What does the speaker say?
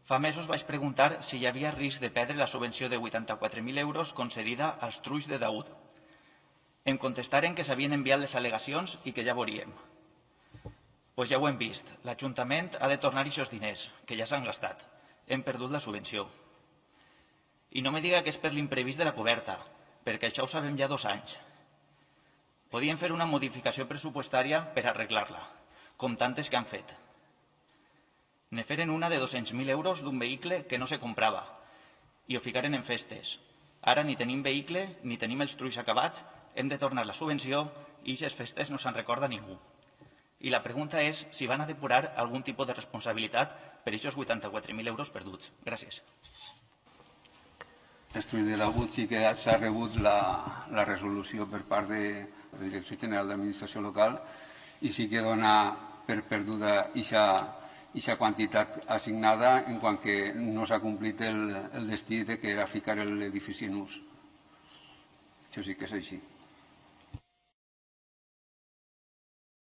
Fa mesos vaig preguntar si hi havia risc de perdre la subvenció de 84.000 euros concedida als trulls de Daud. Em contestaren que s'havien enviat les al·legacions i que ja veuríem. Doncs ja ho hem vist. L'Ajuntament ha de tornar aquests diners, que ja s'han gastat. Hem perdut la subvenció. I no me diga que és per l'imprevist de la coberta, perquè això ho sabem ja 2 anys. Podien fer una modificació pressupostària per arreglar-la, com tantes que han fet. Ne feren una de 200.000 euros d'un vehicle que no se comprava i ho ficaren en festes. Ara ni tenim vehicle ni tenim els trulls acabats, hem de tornar la subvenció i aquestes festes no se'n recorda ningú. I la pregunta és si van a depurar algun tipus de responsabilitat per aquests 84.000 euros perduts. Gràcies. Després de l'agut sí que s'ha rebut la resolució per part de la Direcció General d'Administració Local i sí que dona per perduda aquesta quantitat assignada en quant que no s'ha complit el destí que era ficar l'edifici en ús. Això sí que és així.